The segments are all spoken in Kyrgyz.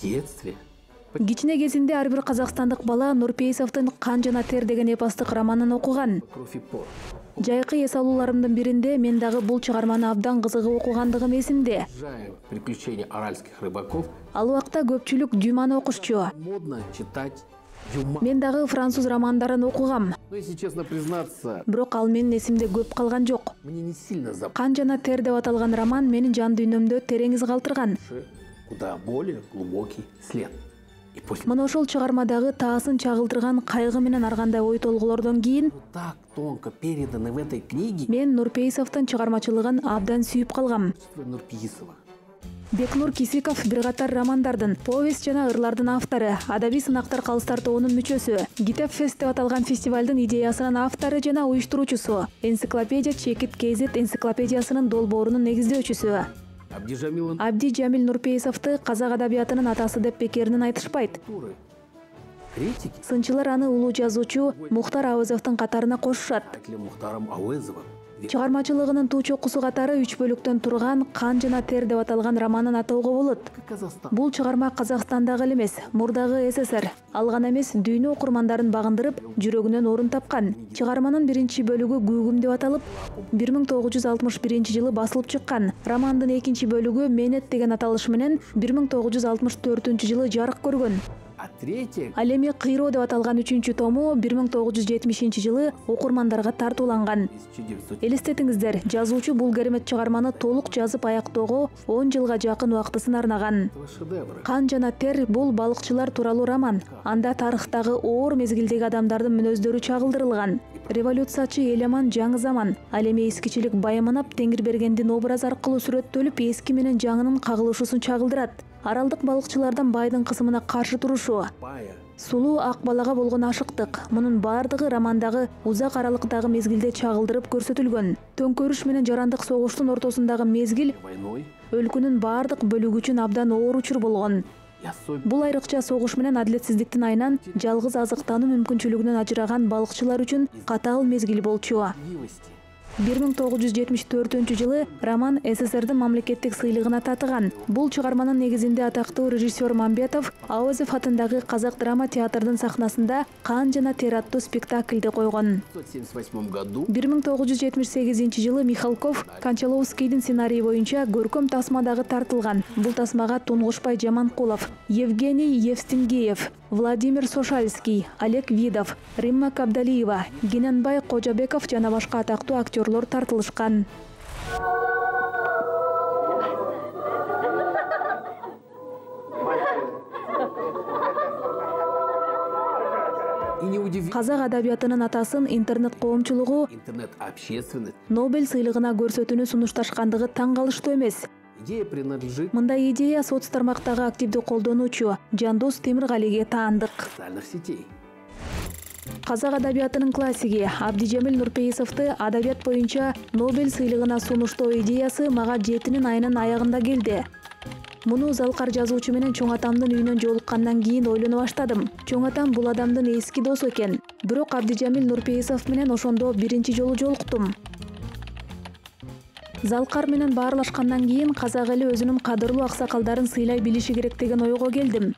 детстве. Кичине кезинде ар бир казакстандык бала Нурпейисовдун «Кан жана тер» деген эпостук романын окуган. Кровь и пот. Жайкы эс алууларымдын биринде мен дагы бул чыгарманы абдан кызыгып окугандыгым эсимде. Обожаю «Приключения аральских рыбаков». Ал убакта көпчүлүк Дюманы окушчу. Модно читать Дюма. Мен дагы француз романдарын окугам. Но если честно признаться, Бирок ал менин эсимде көп калган жок. мне не сильно запомнился. «Кан жана тер» деп аталган роман менин жан дүйнөмдө терең из калтырган. Куда более глубокий след. И после Мына ошол чыгармадагы таасын чагылдырган кайгы менен ар кандай ой толгулордон кийин так тонко переданы в этой книге мен Нурпейисовдун чыгармачылыгын абдан сүйүп калгам. Нурпейисова. Бекнур Кисиков бир катар романдардын, повесть жана ырлардын автору, адабий сынактар калыстар тобунун мүчөсү, Китеп фест деп аталган фестивалдын идеясынын автору жана уюштуруучусу, энциклопедия Чекит KZ энциклопедиясынын долбоорунун негиздөөчүсү. Абди Жамил Нурпейисовду казак адабиятынын атасы деп бекеринен айтышпайт. Критики Сынчылар аны улуу жазуучу Мухтар Ауэзовдун катарына кошушат. Мухтаром Ауэзовым. Чыгармачылыгынын туу чокусу катары 3 бөлүктөн турган «Кан жана тер» деп аталган романын атоого болот. Бул чыгарма Казакстандагы эле эмес, мурдагы СССР, ал гана эмес дүйнө окурмандарын багындырып, жүрөгүнөн орун тапкан. Чыгарманын биринчи бөлүгү «Гүгүм» деп аталып, 1961-жылы басылып чыккан. Романдын экинчи бөлүгү «Менет» деген аталыш менен 1964-жылы жарык көргөн. Ал эми «Кыйроо» деп аталган 3-тому 1970-жылы окурмандарга тартууланган. Элестетиңиздер, жазуучу бул керемет чыгарманы толук жазып аяктоого 10 жылга жакын убактысын арнаган. «Кан жана тер» бул балыкчылар тууралуу роман. Анда тарыхтагы оор мезгилдеги адамдардын мүнөздөрү чагылдырылган. Революциячы Элеман жаңы заман, ал эми эскичилик байыманап Теңирбергендин образы аркылуу сүрөттөлүп, эски менен жаңынын кагылышуусун чагылдырат. Аралдык балыкчылардан байдын кысымына каршы турушу, сулуу ак балага болгон ашыктык, мунун баардыгы романдагы узак аралыктагы мезгилде чагылдырып көрсөтүлгөн. Төңкөрүш менен жарандык согуштун ортосундагы мезгил өлкөнүн баардык бөлүгү үчүн абдан оор учур болгон. Бул айрыкча согуш менен адилетсиздиктин айынан жалгыз азыктануу мүмкүнчүлүгүнөн ажыраган балыкчылар үчүн катаал мезгил болчу. 1974-жылы роман СССРдин мамлекеттик сыйлыгына татыган. Бул чыгарманын негизинде атактуу режиссер Мамбетов Ауэзов атындагы Казак драма театрдын сахнасында «Кан жана тер» аттуу спектакльди койгон. 1978-жылы Михалков Кончаловскийдин сценарийи боюнча көркөм тасмадагы тартылган. Бул тасмага Тунгушбай Жаманкулов, Евгений Евстингеев, Владимир Сошальский, Олег Видов, Римма Кабдалиева, Гененбай Кожабеков жана башка атактуу актерлор тартылышкан. Казак адабиятынын атасын интернет коомчулугу Нобель сыйлыгына көрсөтүүнү сунушташкандыгы таң калыштуу эмес. Мындай идея соц тармактагы активдүү колдонуучу Жандос Темиргалиге таандык. Казак адабиятынын классиги Абдижамил Нурпейисовду адабият боюнча Нобель сыйлыгына сунуштоо идеясы мага 7 айынын аягында келди. Муну Залкар жазуучу менен чоң атамдын үйүнөн жолуккандан кийин ойлоно баштадым. Чоң атам бул адамдын эски досу экен. Бирок Абдижамил Нурпейисов менен ошондо биринчи жолу жолуктум. Залкар менен баарлашкандан кийин казак эли өзүнүн кадырлуу аксакалдарын сыйлай билиши керек деген ойго келдим.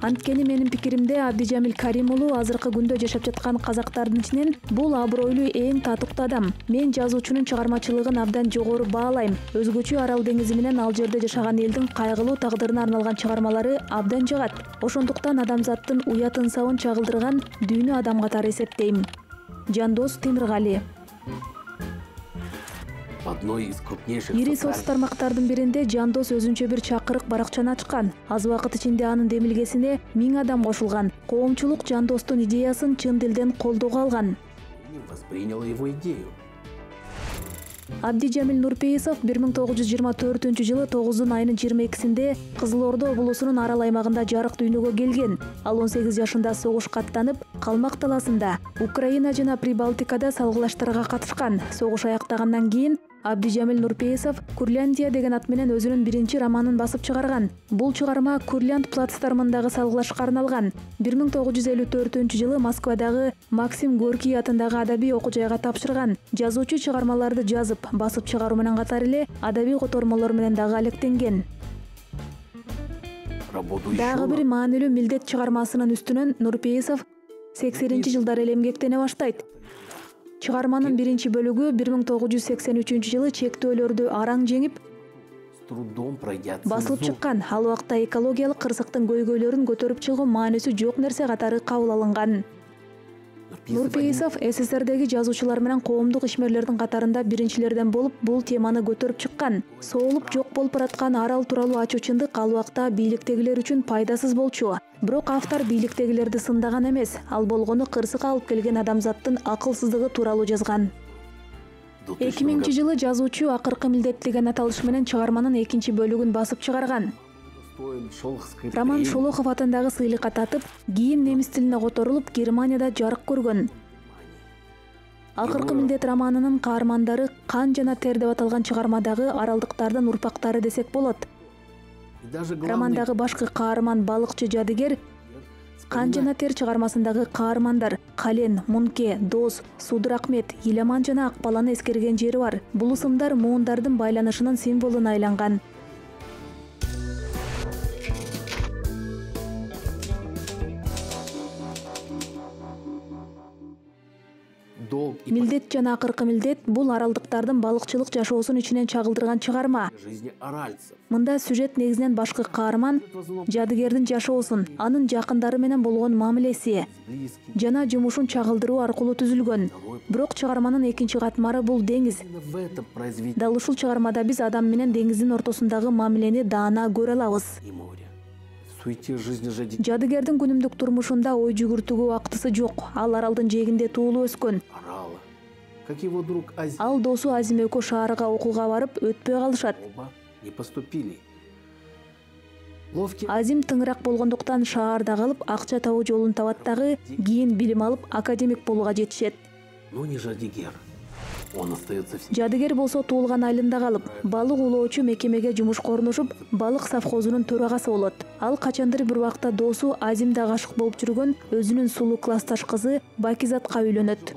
Анткени менин пикиримде Абдижамил Карим уулу азыркы күндө жашап жаткан казактардын ичинен бул абройлуу эң татыктуу адам. Мен жазуучунун чыгармачылыгын абдан жогору баалайм. Өзгөчө Арал деңизи менен ал жерде жашаган элдин кайгылуу тагдырына арналган чыгармалары абдан жагат. Ошондуктан адамзаттын уят ынсабын чагылдырган дүйнө адам катары эсептейм. Жандос Темиргали. Ири соц тармактардын биринде Жандос өзүнчө бир чакырык баракчаны ачкан. Аз убакыт ичинде анын демилгесине 1000 адам кошулган. Коомчулук Жандостун идеясын чын дилден колдоого алган. Абдижамил Нурпейисов 1924-жылы 9 айынын 22-синде Кызыл Ордо облусунун Арал аймагында жарык дүйнөгө келген. Ал 18 жашында согушка аттанып, Калмак таласында, Украина жана Прибалтикада салгылаштарга катышкан. Согуш аяктагандан кийин Абдижамил Нурпейисов Курляндия деген ат менен өзүнүн биринчи романын басып чыгарган. Бул чыгарма Курлянд плацдармындагы салгылашка арналган. 1954-жылы Москвадагы Максим Горький атындагы адабий окуу жайга тапшырган. Жазуучу чыгармаларды жазып, басып чыгаруу менен катар эле адабий котормолор менен дагы алектенген. работу еще Дагы бир маанилүү милдет чыгармасынын үстүнөн Нурпейисов 80-жылдары эле эмгектене баштайт. Чыгарманын биринчи бөлүгү 1983-жылы чектөөлөрдү араң жеңип, с трудом пройдя басылып цензуру. чыккан. Ал убакта экологиялык кырсыктын көйгөйлөрүн көтөрүп чыгуу маанисү жок нерсе катары кабыл алынган. Нурпейисов СССРдеги жазуучулар менен коомдук ишмерлердин катарында биринчилерден болуп бул теманы көтөрүп чыккан. Соолуп жок болуп бараткан арал тууралуу ачуу чындык ал убакта бийликтегилер үчүн пайдасыз болчу. Бирок автор бийликтегилерди сындаган эмес, ал болгону кырсыкка алып келген адамзаттын акылсыздыгы тууралуу жазган. 2000-жылы жазуучу акыркы милдет деген аталыш менен чыгарманын экинчи бөлүгүн басып чыгарган. Роман Шолохов атындагы сыйлыкка татып, кийин немис тилине которулуп, Германияда жарык көргөн. Акыркы милдет романынын каармандары Кан жана тер деп аталган чыгармадагы аралдыктардын урпактары десек болот. Романдагы башкы каарман балыкчы жадыгер Кан жана тер чыгармасындагы каармандар Кален, Мунке, Дос, Судур Акмет, Иламан жана Акбаланы эскерген жери бар. Бул ысымдар муундардын байланышынын символуна айланган. Милдет жана акыркы милдет бул аралдыктардын балыкчылык жашоосун ичинен чагылдырган чыгарма. Мында сюжет негизинен башкы каарман жадыгердин жашоосун, анын жакындары менен болгон мамилеси жана жумушун чагылдыруу аркылуу түзүлгөн. Бирок чыгарманын экинчи катмары бул деңиз. Дал ушул чыгармада биз адам менен деңиздин ортосундагы мамилени даана көрө алабыз. Жадыгердин күнүмдүк турмушунда ой жүгүртүүгө убактысы жок. Ал аралдын жээгинде туулуп өскөн. Ал досу Азим экөө шаарга окууга барып, өтпөй калышат. Азим тыңыраак болгондуктан шаарда калып, акча табуу жолун табат дагы, кийин билим алып, академик болууга жетишет. Жадыгер болсо туулган айылында калып, балык улоочу мекемеге жумушка орношуп, балык совхозунун төрагасы болот. Ал качандыр бир убакта досу Азим да гашык болуп жүргөн өзүнүн сулуу классташ кызы Бакизатка үйлөнөт.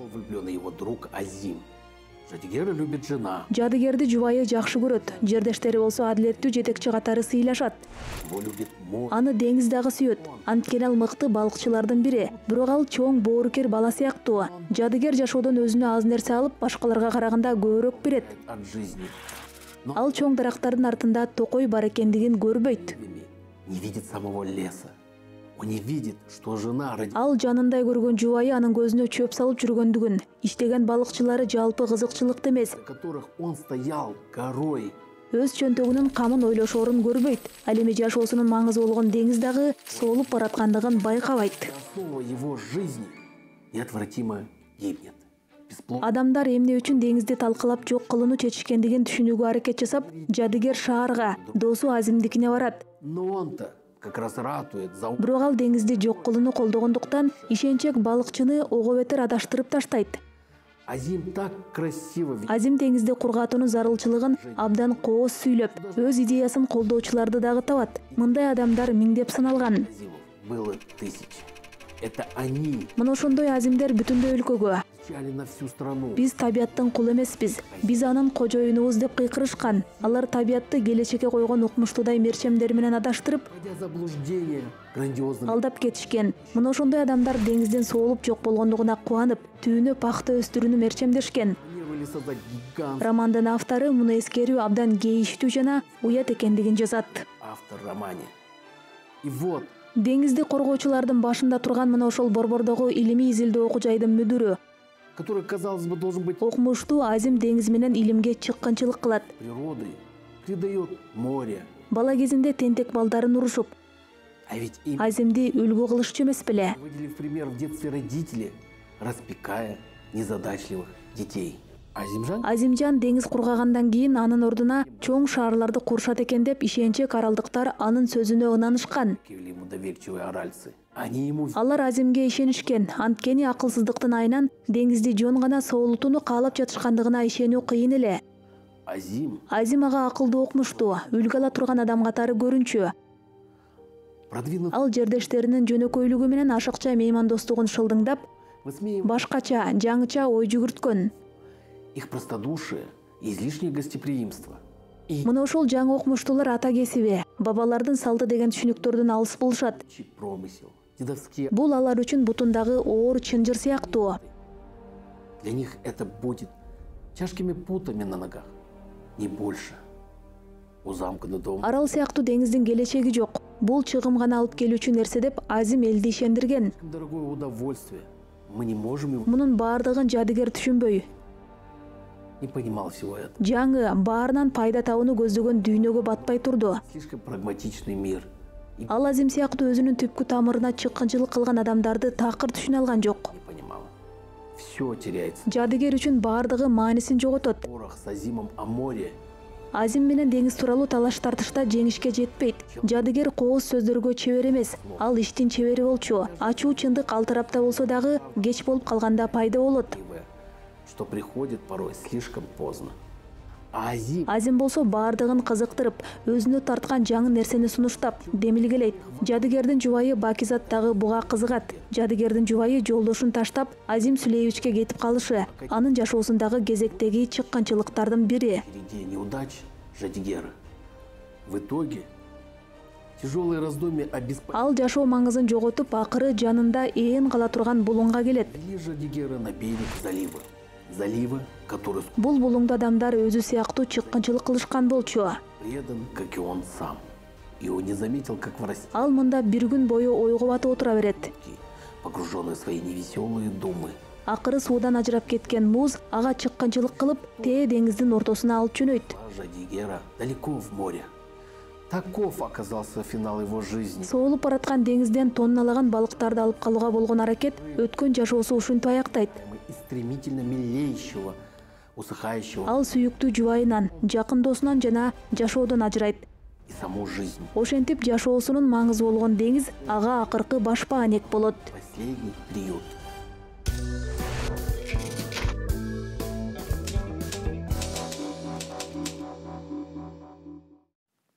Жадыгерди жубайы жакшы көрөт. Жердештери болсо адилеттүү жетекчи катары сыйлашат. Аны деңиз дагы сүйөт. Анткени ал мыкты балыкчылардын бири. Бирок ал чоң боорукер бала сыяктуу. Жадыгер жашоодон өзүнө аз нерсе алып, башкаларга караганда көбүрөөк берет. Ал чоң дарактардын артында токой бар экендигин көрбөйт. Ал жанындай көргөн жубайы анын көзүнө чөп салып жүргөндүгүн, иштеген балыкчылары жалпы кызыкчылыкты эмес, өз чөнтөгүнүн камын ойлошоорун көрбөйт. Ал эми жашоосунун маңызы болгон деңиз дагы соолуп бараткандыгын байкабайт. Адамдар эмне үчүн деңизди талкалап жок кылууну чечишкендигин түшүнүүгө аракет жасап, жадыгер шаарга, досу Азимдикине барат. Бирок ал деңизди жок кылууну колдогондуктан ишенчек балыкчыны ого бетер адаштырып таштайт. Азим деңизди кургатуунун зарылчылыгын абдан кооз сүйлөп, өз идеясын колдоочуларды дагы табат. Мындай адамдар миңдеп сыналган. Мына ошондой Азимдер бүтүндөй өлкөгө биз табияттын кулу эмеспиз, биз анын кожоюнубуз деп кыйкырышкан. Алар табиятты келечекке койгон укмуштуудай мерчемдер менен адаштырып, алдап кетишкен. Мына ошондой адамдар деңиздин соолуп жок болгондугуна кубанып, түбүнө пахта өстүрүүнү мерчемдешкен. Романдын автору муну эскерүү абдан кейиштүү жана уят экендигин жазат. Деңизди коргоочулардын башында турган мына ошол Борбордогу илимий изилдөө окуу жайдын мүдүрү, окумуштуу Азим деңиз менен илимге чыккынчылык кылат. Бала кезинде тентек балдарын урушуп, Азимди үлгү кылышчу эмес беле. Азимжан деңиз кургагандан кийин анын ордуна чоң шаарларды курушат экен деп ишенчек аралдыктар анын сөзүнө ынанышкан. Алар Азимге ишенишкен, анткени акылсыздыктын айынан деңизди жөн гана соолутууну каалап жатышкандыгына ишенүү кыйын эле. Азим ага акылдуу, окумуштуу, үлгү ала турган адам катары көрүнчү. Ал жердештеринин жөнөкөйлүгү менен ашыкча меймандостугун шылдыңдап, башкача, жаңыча ой жүгүрткөн. Мына ошол жаңы окумуштуулар ата кесиби бабалардын салты деген түшүнүктөрдөн алыс болушат. Промысел, дедовские. Бул алар үчүн бутундагы оор чынжыр сыяктуу. Для них это будет тяжкими путами на ногах, не больше. У замкнутого дома. Арал сыяктуу деңиздин келечеги жок. Бул чыгым гана алып келүүчү нерсе деп Азим элди ишендирген. Дорогое удовольствие. Мы не можем его. Мунун баардыгын жадыгер түшүнбөй, Не понимал всего этого. жаңы баарынан пайда табууну көздөгөн дүйнөгө батпай турду. Слишком прагматичный мир. И Ал Азим сыяктуу өзүнүн түпкү тамырына чыккынчылык кылган адамдарды такыр түшүнө алган жок. не понимал. Все теряется. Жадыгер үчүн баардыгы маанисин жоготот. Порох с Азимом о море. Азим менен деңиз тууралуу талаш тартышта жеңишке жетпейт. Жадыгер кооз сөздөргө чебер эмес, ал иштин чебери болчу. Ачуу чындык ал тарапта болсо дагы кеч болуп калганда пайда болот. Что приходит порой слишком поздно. А Азим болсо баардыгын кызыктырып, өзүнө тарткан жаңы нерсени сунуштап, демилгелейт. Жадыгердин жубайы Бакизат дагы буга кызыгат. Жадыгердин жубайы жолдошун таштап, Азим Сүлейевичке кетип калышы, анын жашоосундагы кезектеги чыккынчылыктардын бири. впереди неудач Жадигера. В итоге тяжелые раздумья о Ал жашоо маңызын жоготуп, акыры жанында ээн кала турган булуңга келет. Привели Жадигера на берег залива. Залива, который Бул булуңда адамдар өзү сыяктуу чыккынчылык кылышкан болчу. предан, как и он сам. И он не заметил, как в расти, Ал мында бир күн бою ойго батып отура берет. погруженный в свои невеселые думы. Акыры суудан ажырап кеткен муз ага чыккынчылык кылып, тээ деңиздин ортосуна алып жөнөйт. Жадигера далеко в море. Таков оказался финал его жизни. Соолуп бараткан деңизден тонналаган балыктарды алып калууга болгон аракет өткөн жашоосу ушинтип аяктайт. Из стремительно мелеющего, усыхающего Ал сүйүктүү жубайынан, жакын досунан жана жашоодон ажырайт. и саму жизнь. Ошентип жашоосунун маңызы болгон деңиз ага акыркы баш баанек болот. Последний приют.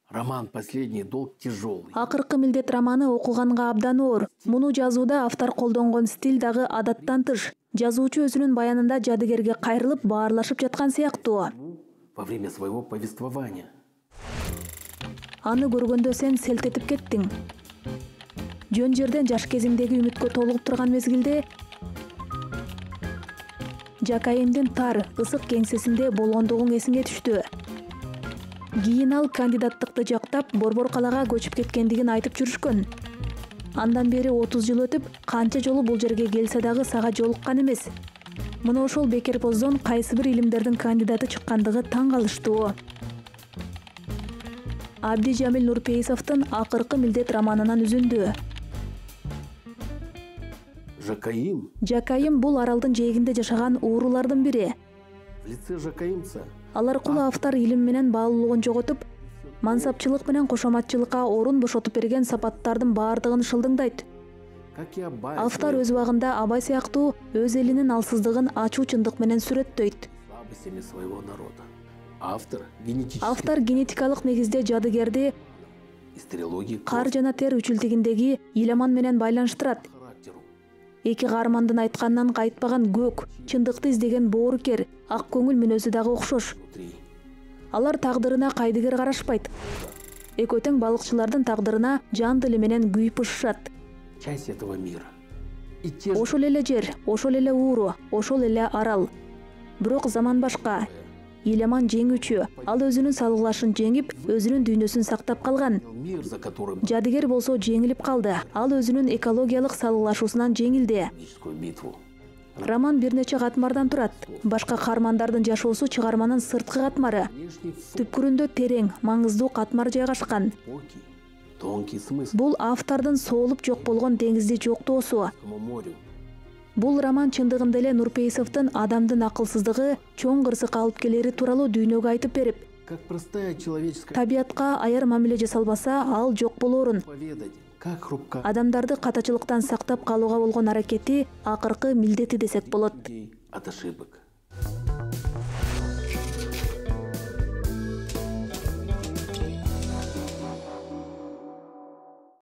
Роман «Последний долг» тяжелый. Акыркы милдет романы окуганга абдан оор. Муну жазууда автор колдонгон стиль дагы адаттан тыш. Жазуучу өзүнүн баянында жадыгерге кайрылып баарлашып жаткан сыяктуу. Во время своего повествования. Аны көргөндө сен селт этип кеттиң. Жөн жерден жаш кезиңдеги үмүткө толугуп турган мезгилде Жакайымдын тар, ысык кеңсесинде болгондугуң эсиңе түштү. Кийин ал кандидаттыкты жактап, Борбор калаага көчүп кеткендигин айтып жүрүшкөн. Андан бери 30 жыл өтүп, канча жолу бул жерге келсе дагы сага жолуккан эмес. Мына ошол бекер поздон кайсы бир илимдердин кандидаты чыккандыгы таң калыштуу. Абдижамил Нурпейисовдун Акыркы милдет романынан үзүндү. Жакаим Жакайым бул аралдын жээгинде жашаган уурулардын бири. в лице Жакаимца Ал аркылуу автор илим менен баалуулугун жоготуп, мансапчылык менен кошоматчылыкка орун бошотуп берген сапаттардын баардыгын шылдыңдайт. как и Абай Автор өз убагында Абай сыяктуу өз элинин алсыздыгын ачуу чындык менен сүрөттөйт. слабостями своего народа. Автор Автор генетикалык негизде жадыгерди из трилогии кар жана тер үчүлтүгүндөгү Иламан менен байланыштырат. характеру. Эки каармандын айтканынан кайтпаган көк, чындыкты издеген боорукер, ак көңүл мүнөзү дагы окшош. Внутри. Алар тагдырына кайдыгер карашпайт. Экөө тең балыкчылардын тагдырына жан дили менен күйүп-ышышат. Часть этого мира. И те же Ошол эле жер, ошол эле ууру, ошол эле арал. Бирок заман башка. Иламан жеңүүчү, ал өзүнүн салгылашын жеңип, өзүнүн дүйнөсүн сактап калган. мир, за которым Жадыгер болсо жеңилип калды. Ал өзүнүн экологиялык салгылашуусунан жеңилди. экономическую битву. Роман бир нече катмардан турат. Башка каармандардын жашоосу чыгарманын сырткы катмары. Внешний Түпкүрүндө терең, маңыздуу катмар жайгашкан. глубокий, тонкий смысл Бул автордун соолуп жок болгон деңизди жоктоосу. к морю. Бул роман чындыгында эле Нурпейисовдун адамдын акылсыздыгы чоң кырсыкка алып келери тууралуу дүйнөгө айтып берип, Как простая человеческая табиятка аяр мамиле жасалбаса, ал жок болоорун, поведать, как хрупка адамдарды катачылыктан сактап калууга болгон аракети акыркы милдети десек болот. людей от ошибок.